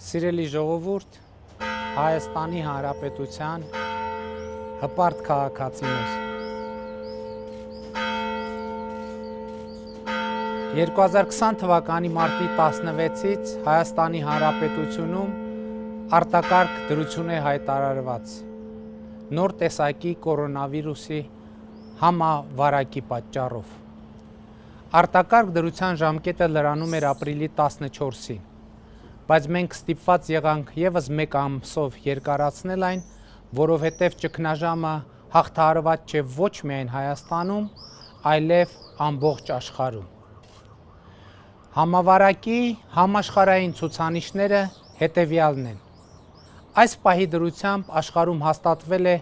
Սիրելի ժողովուրդ, Հայաստանի Հանրապետության հպարտ քաղաքացիներ, 2020 թվականի մարտի 16-ից Հայաստանի Հանրապետությունում արտակարգ դրություն է հայտարարված նոր տեսակի կորոնավիրուսի համավարակի պատճառով։ Արտակարգ դրության ժամկետը լրանում էր ապրիլի 14-ին, բայց մենք ստիպված եղանք ևս մեկ ամսով երկարացնել այն, որովհետև ճգնաժամը հաղթահարված չէ ոչ միայն Հայաստանում, այլև ամբողջ աշխարհում։ Համավարակի համաշխարհային ցուցանիշները հետևյալն են։ Այս պահի դրությամբ աշխարհում հաստատվել է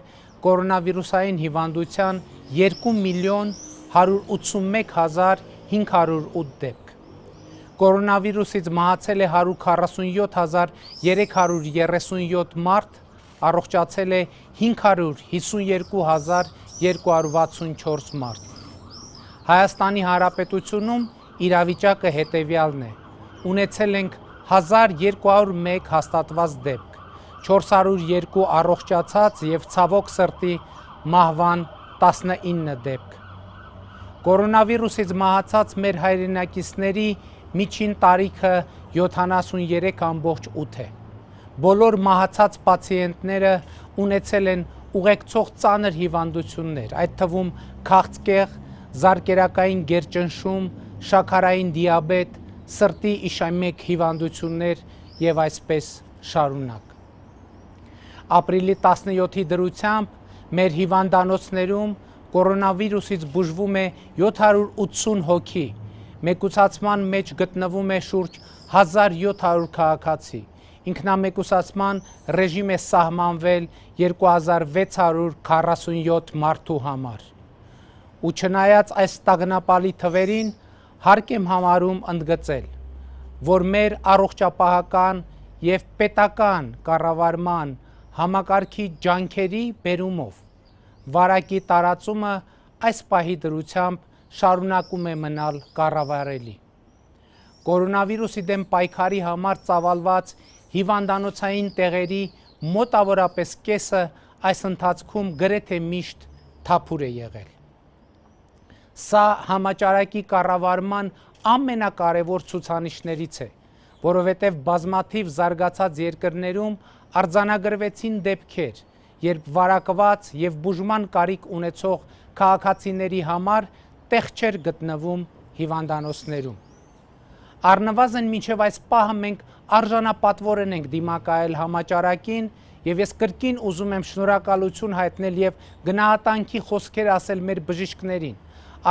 կորոնավիրուսային հիվանդության 2.181.508 դեպք։ Կորոնավիրուսից մահացել է 147.337 մարդ, առողջացել է 552.264 մարդ։ Հայաստանի Հանրապետությունում իրավիճակը հետևյալն է. ունեցել ենք 1201 հաստատված դեպք, 402 առողջացած և ցավոք սրտի մահվան 19 դեպք։ Կորոնավիրուսից մահացած մեր հայրենակիցների միջին տարիքը 73.8 է։ Բոլոր մահացած պացիենտները ունեցել են ուղեկցող ծանր հիվանդություններ, այդ թվում քաղցկեղ, զարկերակային գերճնշում, շաքարային դիաբետ, սրտի իշեմիկ հիվանդություններ և այսպես շարունակ։ Ապրիլի 17-ի դրությամբ մեր հիվանդանոցներում կորոնավիրուսից բուժվում է 780 հոգի, մեկուսացման մեջ գտնվում է շուրջ 1700 քաղաքացի, ինքնամեկուսացման ռեժիմ է սահմանվել 2647 մարդու համար։ Ու չնայած այս տագնապալի թվերին, հարկ եմ համարում ընդգծել, որ մեր առողջապահական և պետական կառավարման համակարգի ջանքերի բերումով վարակի տարածումը այս պահի դրությամբ շարունակում է մնալ կառավարելի։ Կորոնավիրուսի դեմ պայքարի համար ծավալված հիվանդանոցային տեղերի մոտավորապես կեսը այս ընթացքում գրեթե միշտ թափուր է եղել։ Սա համաճարակի կառավարման ամենակարևոր ցուցանիշներից է, որովհետև բազմաթիվ զարգացած երկրներում արձանագրվեցին դեպքեր, երբ վարակված և բուժման կարիք ունեցող քաղաքացիների համար տեղ չէր գտնվում հիվանդանոցներում։ Առնվազն մինչև այս պահը մենք արժանապատվորեն ենք դիմակայել համաճարակին և ես կրկին ուզում եմ շնորհակալություն հայտնել և գնահատանքի խոսքեր ասել մեր բժիշկներին,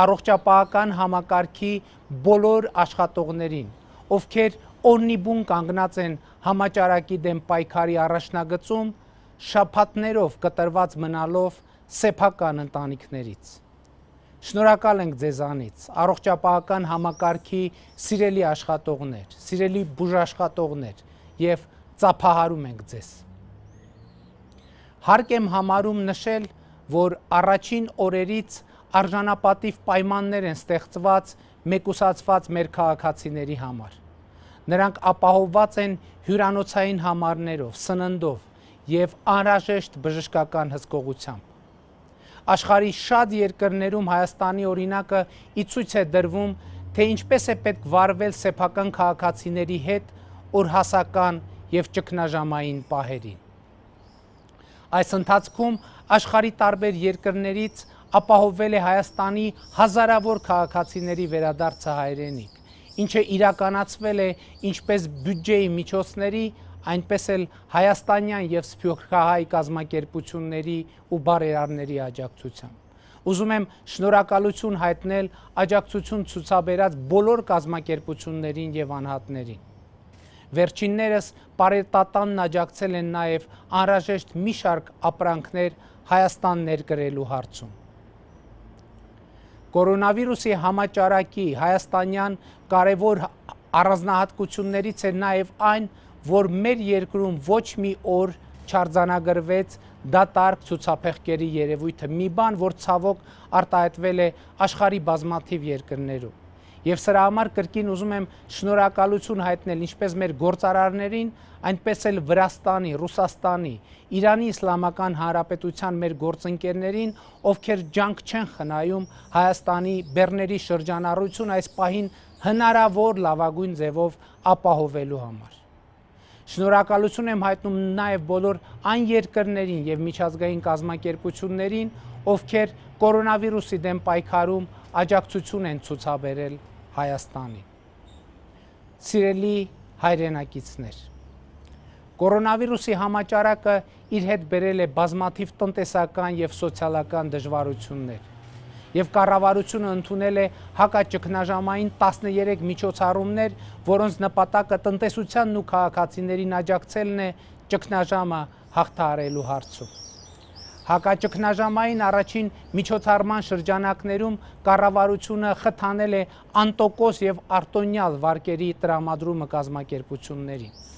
առողջապահական համակարգի բոլոր աշխատողներին, ովքեր օրնիբուն կանգնած են համաճարակի դեմ պայքարի առաջնագծում, շաբաթներով կտրված մնալով սեփական ընտանիքներից։ Շնորհակալ ենք ձեզանից, առողջապահական համակարգի սիրելի աշխատողներ, սիրելի բուժաշխատողներ և ծափահարում ենք ձեզ։ Հարկ եմ համարում նշել, որ առաջին օրերից արժանապատիվ պայմաններ են ստեղծված մեկուսացված մեր քաղաքացիների համար։ Նրանք ապահովված են հյուրանոցային համարներով, սննդով և անհրաժեշտ բժշկական հսկողությամբ։ Աշխարհի շատ երկրներում Հայաստանի օրինակը ի ցույց է դրվում, թե ինչպես է պետք վարվել սեփական քաղաքացիների հետ օրհասական և ճգնաժամային պահերին։ Այս ընթացքում աշխարհի տարբեր երկրներից ապահովվել է Հայաստանի հազարավոր քաղաքացիների վերադարձը հայրենիք, ինչը իրականացվել է ինչպես բյուջեի միջոցների, այնպես էլ հայաստանյան և սփյուռքահայ կազմակերպությունների ու բարերարների աջակցությամբ։ Ուզում եմ շնորհակալություն հայտնել աջակցություն ցուցաբերած բոլոր կազմակերպություններին և անհատներին։ Վերջիններս պարետատնն աջակցել են նաև անհրաժեշտ մի շարք ապրանքներ Հայաստան ներկրելու հարցում։ Կորոնավիրուսի համաճարակի հայաստանյան կարևոր առանձնահատկություններից է նաև այն, որ մեր երկրում ոչ մի օր չարձանագրվեց դատարկ ցուցափեղկերի երևույթը, մի բան, որ ցավոք արտահայտվել է աշխարհի բազմաթիվ երկրներում։ Եվ սրա համար կրկին ուզում եմ շնորհակալություն հայտնել ինչպես մեր գործարարներին, այնպես էլ Վրաստանի, Ռուսաստանի, Իրանի Իսլամական Հանրապետության մեր գործընկերներին, ովքեր ջանք չեն խնայում Հայաստանի բեռների շրջանառություն այս պահին հնարավոր լավագույն ձևով ապահովելու համար։ Շնորհակալություն եմ հայտնում նաև բոլոր այն երկրներին եւ միջազգային կազմակերպություններին, ովքեր կորոնավիրուսի դեմ պայքարում աջակցություն են ցուցաբերել Հայաստանին։ Սիրելի հայրենակիցներ, կորոնավիրուսի համաճարակը իր հետ բերել է բազմաթիվ տնտեսական եւ սոցիալական դժվարություններ, եւ կառավարությունը ընդունել է հակաճգնաժամային 13 միջոցառումներ, որոնց նպատակը տնտեսությանն ու քաղաքացիներին աջակցելն է ճգնաժամը հաղթահարելու հարցում։ Հակաճգնաժամային առաջին միջոցառման շրջանակներում կառավարությունը խթանել է անտոկոս եւ արտոնյալ վարկերի տրամադրումը կազմակերպություններին։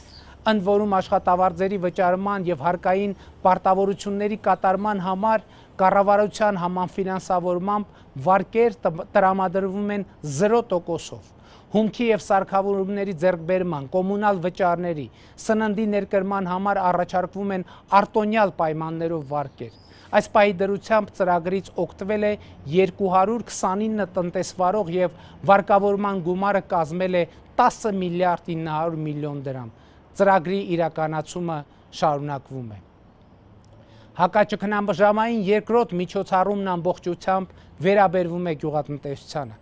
Ընդ որում աշխատավարձերի վճարման եւ հարկային պարտավորությունների կատարման համար կառավարության համաֆինանսավորմամբ վարկեր տրամադրվում են 0%-ով։ Հումքի եւ սարքավորումների ձեռքբերման, կոմունալ վճարների, սննդի ներկրման համար առաջարկվում են արտոնյալ պայմաններով վարկեր։ Այս պահի դրությամբ ծրագրից օգտվել է 229 տնտեսվարող եւ վարկավորման գումարը կազմել է 10 միլիարդ 900 միլիոն դրամ։ Ծրագրի իրականացումը շարունակվում է։ Հակաճգնաժամային երկրորդ միջոցառումն ամբողջությամբ վերաբերվում է գյուղատնտեսությանը։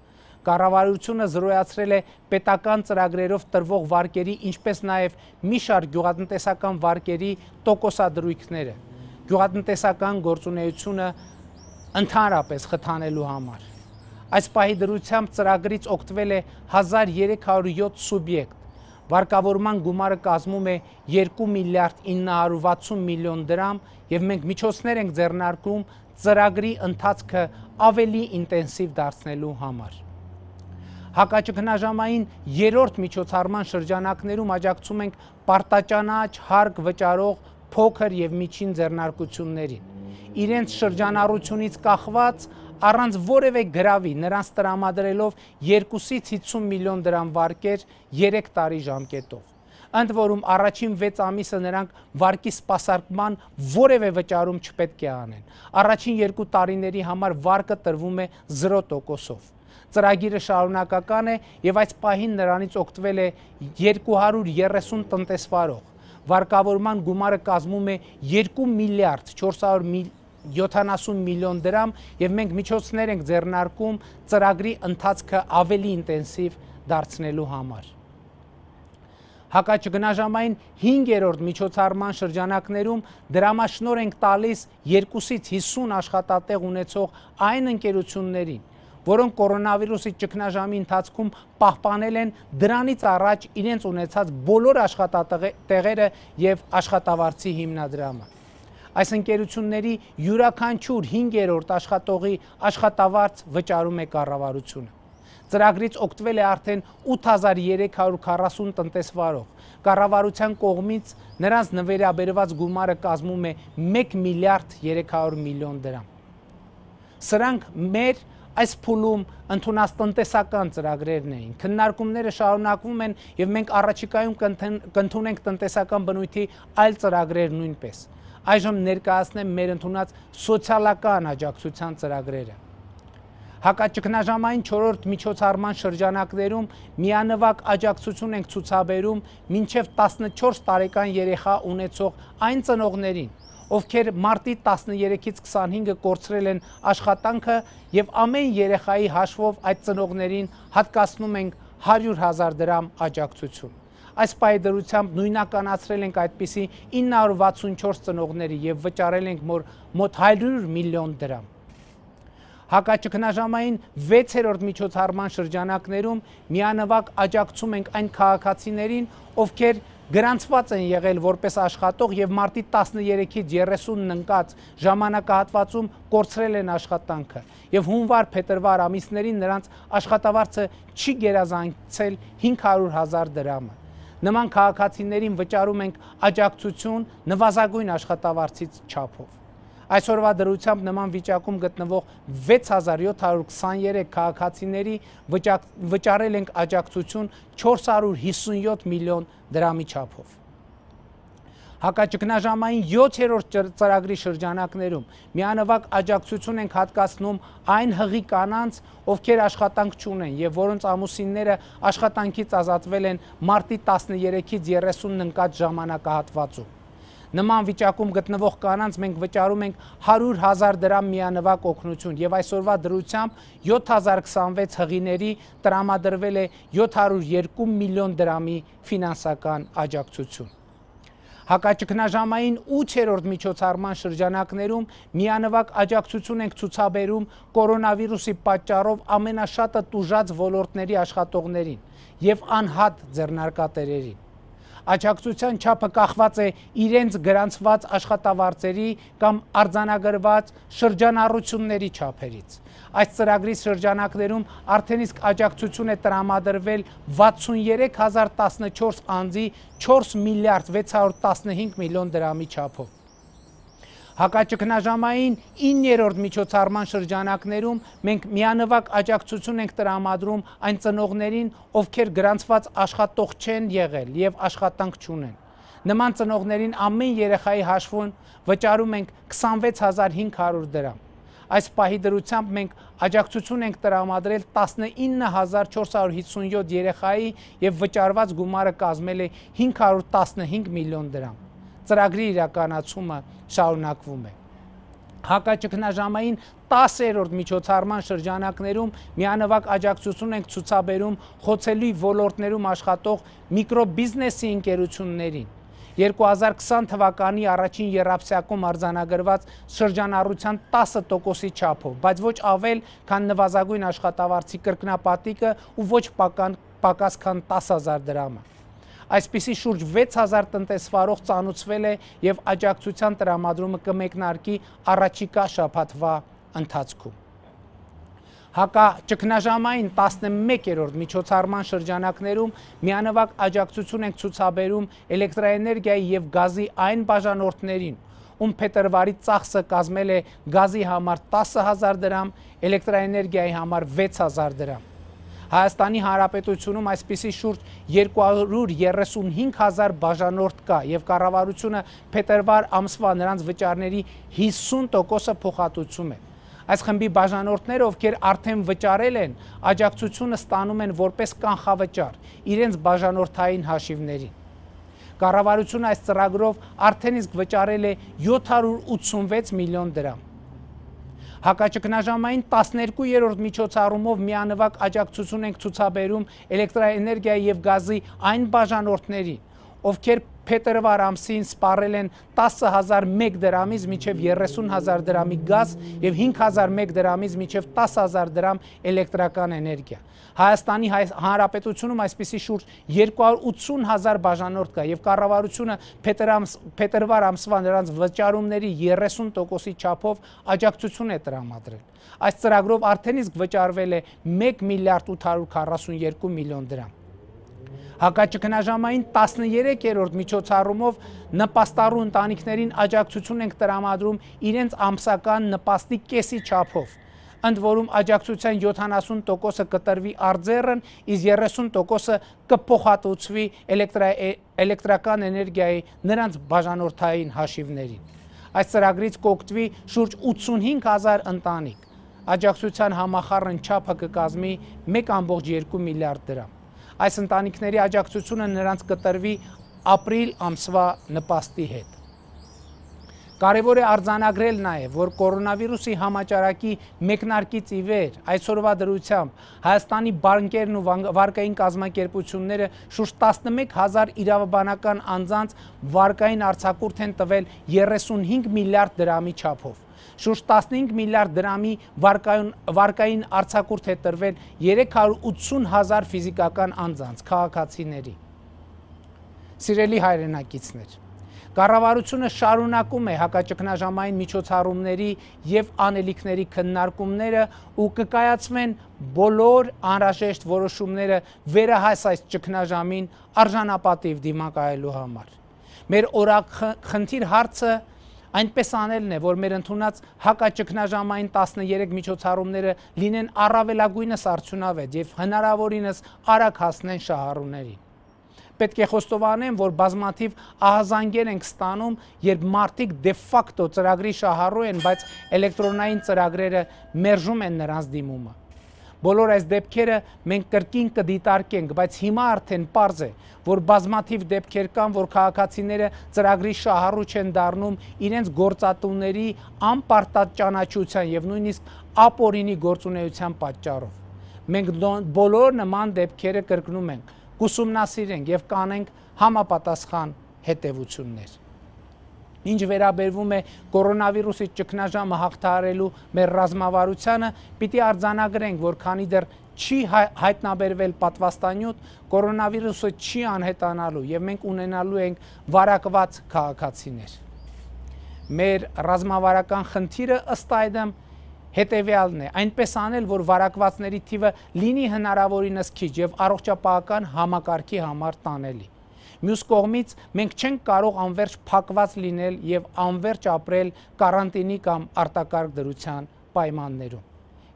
Կառավարությունը զրոյացրել է պետական ծրագրերով տրվող վարկերի, ինչպես նաև մի շարք գյուղատնտեսական վարկերի տոկոսադրույքները, գյուղատնտեսական գործունեությունը ընդհանրապես խթանելու համար։ Այս պահի դրությամբ ծրագրից օգտվել է 1307 սուբյեկտ, վարկավորման գումարը կազմում է 2 միլիարդ 960 միլիոն դրամ եւ մենք միջոցներ ենք ձեռնարկում ծրագրի ընթացքը ավելի ինտենսիվ դարձնելու համար։ Հակաճգնաժամային երրորդ միջոցառման շրջանակներում աջակցում ենք պարտաճանաչ հարկ վճարող փոքր եւ միջին ձեռնարկություններին։ Իրենց շրջանառությունից կախված առանց որևէ գրավի նրանց տրամադրելով 2-ից 50 միլիոն դրամ վարկեր 3 տարի ժամկետով։ Ընդ որում առաջին 6 ամիսը նրանք վարկի սպասարկման որևէ վճարում չպետք է անեն։ Առաջին 2 տարիների համար վարկը տրվում է 0%-ով։ Ծրագիրը շարունակական է եւ այս պահին նրանից օգտվել է 230 տնտեսվարող։ Վարկավորման գումարը կազմում է 2 միլիարդ 470 միլիոն դրամ եւ մենք միջոցներ ենք ձեռնարկում ծրագրի ընթացքը ավելի ինտենսիվ դարձնելու համար։ Հակաճգնաժամային 5-րդ միջոցառման շրջանակներում դրամաշնոր ենք տալիս 2-ից 50 աշխատատեղ ունեցող այն ընկերություններին, որոնք կորոնավիրուսի ճգնաժամի ընթացքում պահպանել են դրանից առաջ իրենց ունեցած բոլոր աշխատատեղերը եւ աշխատավարձի հիմնադրամը։ Այս ընկերությունների յուրաքանչյուր 5-րդ աշխատողի աշխատավարձ վճարում է կառավարությունը։ Ծրագրից օգտվել է արդեն 8340 տնտեսվարող։ Կառավարության կողմից նրանց նվերաբերված գումարը կազմում է 1 միլիարդ 300 միլիոն դրամ։ Սրանք մեր այս փուլում ընդունած տնտեսական ծրագրերն էին։ Քննարկումները շարունակվում են եւ մենք առաջիկայում կընդունենք տնտեսական բնույթի այլ ծրագրեր նույնպես։ Այժմ ներկայացնեմ մեր ընդունած սոցիալական աջակցության ծրագրերը։ Հակաճգնաժամային 4-րդ միջոցառման շրջանակներում միանվագ աջակցություն ենք ցուցաբերում մինչև 14 տարեկան երեխա ունեցող այն ծնողներին, ովքեր մարտի 13-ից 25-ը կորցրել են աշխատանքը եւ ամեն երեխայի հաշվով այդ ծնողներին հատկացնում ենք 100,000 դրամ աջակցություն։ Այս պահի դրությամբ նույնականացրել ենք այդպիսի 964 ծնողների եւ վճարել ենք մոտ 100 միլիոն դրամ։ Հակաճգնաժամային 6-րդ միջոցառման շրջանակներում միանվագ աջակցում ենք այն քաղաքացիներին, ովքեր գրանցված են եղել որպես աշխատող եւ մարտի 13-ից 30-ն ընկած ժամանակահատվածում կորցրել են աշխատանքը եւ հունվար-փետրվար ամիսներին նրանց աշխատավարձը չի գերազանցել 500,000 դրամը։ Նման քաղաքացիներին վճարում ենք աջակցություն նվազագույն աշխատավարձից չափով։ Այսօրվա դրությամբ նման վիճակում գտնվող 6723 քաղաքացիների վճարել ենք աջակցություն 457 միլիոն դրամի չափով։ Հակաճգնաժամային 7-րդ ծրագրի շրջանակներում միանվագ աջակցություն ենք հատկացնում այն հղի կանանց, ովքեր աշխատանք չունեն եւ որոնց ամուսինները աշխատանքից ազատվել են մարտի 13-ից 30-ն ընկած ժամանակահատվածում։ Նման վիճակում գտնվող կանանց մենք վճարում ենք 100,000 դրամ միանվագ օգնություն եւ այսօրվա դրությամբ 7026 հղիների տրամադրվել է 702 միլիոն դրամի ֆինանսական աջակցություն։ Հակաճգնաժամային 8-րդ միջոցառման շրջանակներում միանվագ աջակցություն ենք ցուցաբերում կորոնավիրուսի պատճառով ամենաշատը տուժած ոլորտների աշխատողներին եւ անհատ ձեռնարկատերերին։ Աջակցության չափը կախված է իրենց գրանցված աշխատավարձերի կամ արձանագրված շրջանառությունների չափերից։ Այս ծրագրի շրջանակներում արդեն իսկ աջակցություն է տրամադրվել 63014 անձի 4 միլիարդ 615 միլիոն դրամի չափով։ Հակաճգնաժամային 9-րդ միջոցառման շրջանակներում մենք միանվագ աջակցություն ենք տրամադրում այն ծնողներին, ովքեր գրանցված աշխատող չեն եղել եւ աշխատանք չունեն։ Նման ծնողներին ամեն երեխայի հաշվին վճարում ենք 26500 դրամ։ Այս պահի դրությամբ մենք աջակցություն ենք տրամադրել 19457 երեխայի եւ վճարված գումարը կազմել է 515 միլիոն դրամ։ Ծրագրի իրականացումը շարունակվում է։ Հակաճգնաժամային 10-րդ միջոցառման շրջանակներում միանվագ աջակցություն ենք ցուցաբերում խոցելի ոլորտներում աշխատող միկրոբիզնեսի ընկերություններին։ 2020 թվականի առաջին եռաբսյակում արձանագրված շրջանառության 10%-ի չափով, բայց ոչ ավել, քան նվազագույն աշխատավարձի կրկնապատիկը ու ոչ պակաս քան 10,000 դրամը։ Այսպիսի շուրջ 6000 տնտեսվարող ծանուցվել է եւ աջակցության տրամադրումը կմեկնարկի առաջիկա շաբաթվա ընթացքում։ Հակաճգնաժամային 11-րդ միջոցառման շրջանակներում միանվագ աջակցություն ենք ցուցաբերում էլեկտրաէներգիայի եւ գազի այն բաժանորդներին, ում փետրվարի ծախսը կազմել է գազի համար 10000 դրամ, էլեկտրաէներգիայի համար 6000 դրամ։ Հայաստանի Հանրապետությունում այսպիսի շուրջ 235000 բաժանորդ կա եւ կառավարությունը փետրվար ամսվա նրանց վճարների 50%-ը փոխհատուցում է։ Այս խմբի բաժանորդները, ովքեր արդեն վճարել են, աջակցությունը ստանում են որպես կանխավճար իրենց բաժանորդային հաշիվներին։ Կառավարությունը այս ծրագրով արդեն իսկ վճարել է 786 միլիոն դրամ։ Հակաճգնաժամային 12-րդ միջոցառումով միանվագ աջակցություն ենք ցուցաբերում էլեկտրաէներգիայի եւ գազի այն բաժանորդներին, ովքեր փետրվար ամսին սպառել են 10001 դրամից մինչև 30000 դրամի գազ եւ 5001 դրամից մինչև 10000 դրամ էլեկտրական էներգիա։ Հայաստանի Հանրապետությունում այսպիսի շուրջ 280000 բաժանորդ կա եւ կառավարությունը փետրվար ամսվա նրանց վճարումների 30%-ի չափով աջակցություն է տրամադրել։ Այս ծրագրով արդեն իսկ վճարվել է 1 միլիարդ 842 միլիոն դրամ։ Հակաճգնաժամային 13-րդ միջոցառումով նպաստառու ընտանիքներին աջակցություն ենք տրամադրում իրենց ամսական նպաստի կեսի չափով, ընդ որում աջակցության 70%-ը կտրվի արձեռն, իսկ 30%-ը կփոխհատուցվի էլեկտրական էներգիայի նրանց բաժանորդային հաշիվներին։ Այս ծրագրից կօգտվի շուրջ 85000 ընտանիք։ Աջակցության համախառն չափը կկազմի 1.2 միլիարդ դրամ։ Այս ընտանիքների աջակցությունը նրանց կտրվի ապրիլ ամսվա նպաստի հետ։ Կարևոր է արձանագրել նաև, որ կորոնավիրուսի համաճարակի մեկնարկից ի վեր այսօրվա դրությամբ Հայաստանի բանկերն ու վարկային կազմակերպությունները շուրջ 11000 իրավաբանական անձանց վարկային արձակուրդ են տվել 35 միլիարդ դրամի չափով։ Շուրջ 15 միլիարդ դրամի վարկային արձակուրդ է տրվել 380,000 ֆիզիկական անձանց, քաղաքացիների։ Սիրելի հայրենակիցներ, կառավարությունը շարունակում է հակաճգնաժամային միջոցառումների եւ անելիքների քննարկումները ու կկայացվեն բոլոր անհրաժեշտ որոշումները վերահաս այս ճգնաժամին արժանապատիվ դիմակայելու համար։ Մեր օրախնդիր հարցը Այնպես անելն է, որ մեր ընդունած հակաճգնաժամային 13 միջոցառումները լինեն առավելագույնս արդյունավետ եւ հնարավորինս արագ հասնեն շահառուներին։ Պետք է խոստովանեմ, որ բազմաթիվ ահազանգեր ենք ստանում, երբ մարդիկ դե ֆակտո ծրագրի շահառու են, բայց էլեկտրոնային ծրագրերը մերժում են նրանց դիմումը։ Բոլոր այս դեպքերը մենք կրկին կդիտարկենք, բայց հիմա արդեն պարզ է, որ բազմաթիվ դեպքեր կան, որ քաղաքացիները ծրագրի շահառու չեն դառնում իրենց գործատուների անպարտած ճանաչության եւ նույնիսկ ապօրինի գործունեության պատճառով։ Մենք բոլոր նման դեպքերը կրկնում ենք, կուսումնասիրենք եւ կանենք համապատասխան հետեւություններ։ Ինչ վերաբերվում է կորոնավիրուսի ճգնաժամը հաղթահարելու մեր ռազմավարությանը, պիտի արձանագրենք, որ քանի դեռ չի հայտնաբերվել պատվաստանյութ, կորոնավիրուսը չի անհետանալու եւ մենք ունենալու ենք վարակված քաղաքացիներ։ Մեր ռազմավարական խնդիրը ըստ այդմ հետեւյալն է, այնպես անել, որ վարակվածների թիվը լինի հնարավորինս քիչ եւ առողջապահական համակարգի համար տանելի։ Մյուս կողմից մենք չենք կարող անverջ փակված լինել եւ անverջ ապրել կարանտինի կամ արտակարգ դրության պայմաններում։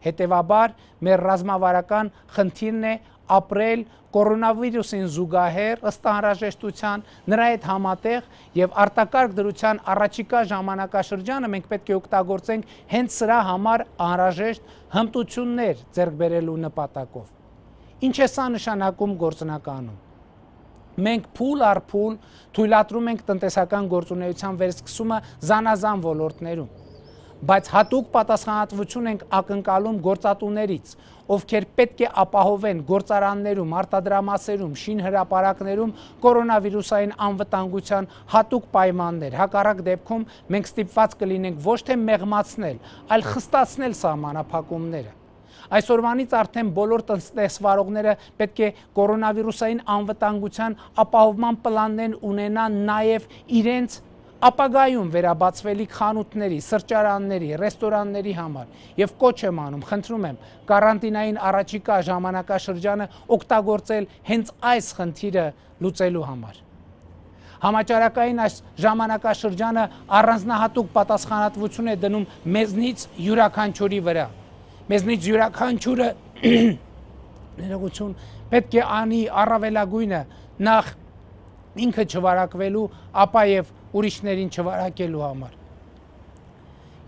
Հետևաբար մեր ռազմավարական խնդիրն է ապրել կորոնավիրուսին զուգահեռ ըստ անհրաժեշտության, նրա հետ համատեղ եւ արտակարգ դրության առաջիկա ժամանակաշրջանը մենք պետք է օգտագործենք հենց սրա համար անհրաժեշտ հմտություններ ձեռք բերելու նպատակով։ Ինչ է սա նշանակում գործնականում։ Մենք փուլ առ փուլ թույլատրում ենք տնտեսական գործունեության վերսկսումը զանազան ոլորտներում, բայց հատուկ պատասխանատվություն ենք ակնկալում գործատուներից, ովքեր պետք է ապահովեն գործարաններում, արտադրամասերում, շինհրապարակներում կորոնավիրուսային անվտանգության հատուկ պայմաններ։ Հակառակ դեպքում մենք ստիպված կլինենք ոչ թե մեղմացնել, այլ խստացնել սահմանափակումները։ Այսօրվանից արդեն բոլոր տնտեսվարողները պետք է կորոնավիրուսային անվտանգության ապահովման պլաններ ունենան նաև իրենց ապագայում վերաբացվելիք խանութների, սրճարանների, ռեստորանների համար եւ կոչ եմ անում, խնդրում եմ, կարանտինային առաջիկա ժամանակաշրջանը օգտագործել հենց այս խնդիրը լուծելու համար։ Համաճարակային այս ժամանակաշրջանը առանձնահատուկ պատասխանատվություն է դնում մեզնից յուրաքանչյուրի վրա։ Մեզնից յուրաքանչյուրը ներողություն պետք է անի առավելագույնը նախ ինքը չվարակվելու, ապա եւ ուրիշներին չվարակելու համար։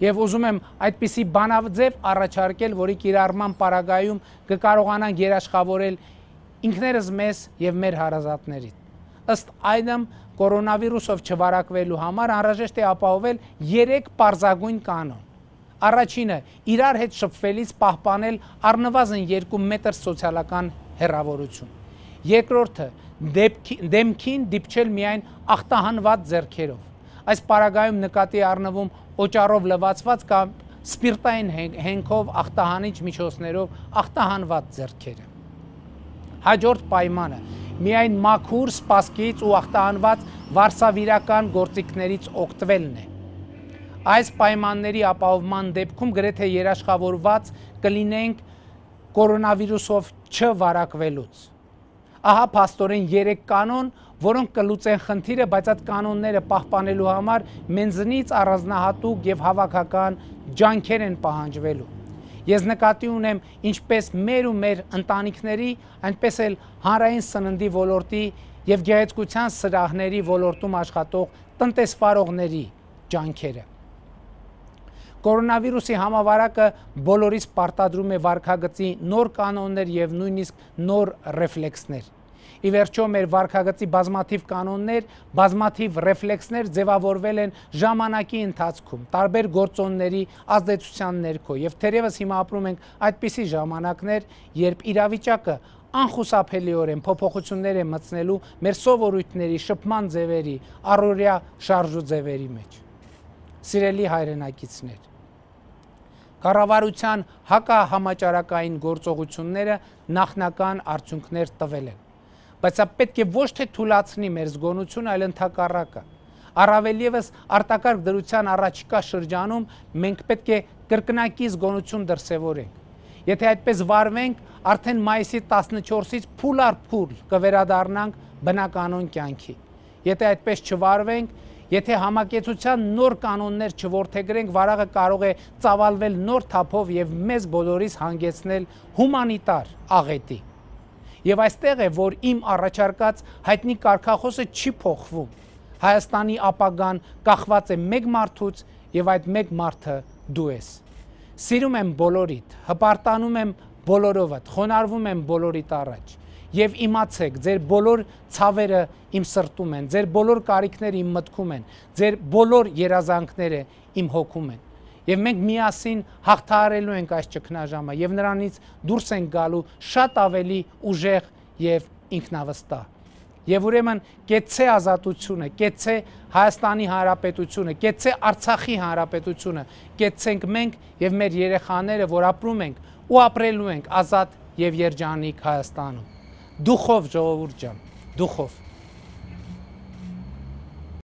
Եվ ուզում եմ այդպիսի բանաձև առաջարկել, որի կիրառման պարագայում կկարողանանք երաշխավորել ինքներս մեզ եւ մեր հարազատներին։ Ըստ այդմ կորոնավիրուսով չվարակվելու համար անհրաժեշտ է ապահովել 3 պարզագույն կանոն։ Առաջինը իրար հետ շփվելիս պահպանել առնվազն 2 մետր սոցիալական հեռավորություն։ Երկրորդը դեմքին դիպչել միայն ախտահանված ձեռքերով։ Այս պարագայում նկատի առնվում օճառով լվացված կամ սպիրտային հենքով ախտահանիչ միջոցներով ախտահանված ձեռքերը։ Հաջորդ պայմանը միայն մաքուր սպասքից ու ախտահանված վարսավիրական գործիքներից օգտվելն է։ Այս պայմանների ապահովման դեպքում գրեթե երաշխավորված կլինենք կորոնավիրուսով չվարակվելուց։ Ահա փաստորեն 3 կանոն, որոնք կլուծեն խնդիրը, բայց այդ կանոնները պահպանելու համար մեզնից առանձնահատուկ եւ հավաքական ջանքեր են պահանջվելու։ Ես նկատի ունեմ ինչպես մեր ու մեր ընտանիքների, այնպես էլ հանրային սննդի ոլորտի եւ գեղեցկության սրահների ոլորտում աշխատող տնտեսվարողների ջանքերը։ Կորոնավիրուսի համավարակը բոլորիս պարտադրում է վարքագծի նոր կանոններ եւ նույնիսկ նոր ռեֆլեքսներ։ Ի վերջո մեր վարքագծի բազմաթիվ կանոններ, բազմաթիվ ռեֆլեքսներ ձևավորվել են ժամանակի ընթացքում, տարբեր գործոնների ազդեցության ներքո եւ թերևս հիմա ապրում ենք այդպիսի ժամանակներ, երբ իրավիճակը անխուսափելիորեն փոփոխություններ է մտցնելու մեր սովորույթների, շփման ձևերի, առօրյա շարժու ձևերի մեջ։ Սիրելի հայրենակիցներ, կառավարության հակահամաճարակային գործողությունները նախնական արդյունքներ տվել են, բայց սա պետք է ոչ թե թուլացնի մեր զգոնությունը, այլ ընդհակառակը։ Առավել ևս արտակարգ դրության առաջիկա շրջանում մենք պետք է կրկնակի զգոնություն դրսևորենք։ Եթե այդպես վարվենք, արդեն մայիսի 14-ից փուլ առ փուլ կվերադառնանք բնականոն կյանքի։ Եթե այդպես չվարվենք, Եթե համակեցության նոր կանոններ չորդեգրենք, վարակը կարող է ծավալվել նոր թափով եւ մեզ բոլորիս հանգեցնել հումանիտար աղետի։ Եվ այստեղ է, որ իմ առաջարկած հայտնի կարգախոսը չի փոխվում։ Հայաստանի ապագան կախված է մեկ մարդուց եւ այդ մեկ մարդը դու ես։ Սիրում եմ բոլորիդ, հպարտանում եմ բոլորովդ, խոնարհվում եմ բոլորիդ առաջ։ Եվ իմացեք, ձեր բոլոր ցավերը իմ սրտում են, ձեր բոլոր կարիքները իմ մտքում են, ձեր բոլոր երազանքները իմ հոգում են։ Եվ մենք միասին հաղթահարելու ենք այս ճգնաժամը եւ նրանից դուրս ենք գալու շատ ավելի ուժեղ եւ ինքնավստահ։ Եվ ուրեմն կեցցե ազատությունը, կեցցե Հայաստանի Հանրապետությունը, կեցցե Արցախի Հանրապետությունը, կեցցենք մենք եւ մեր երեխաները, որ ապրում ենք ու ապրելու ենք ազատ եւ երջանիկ Հայաստանում։ Դուխով ժողովուրդ ջան, դուխով։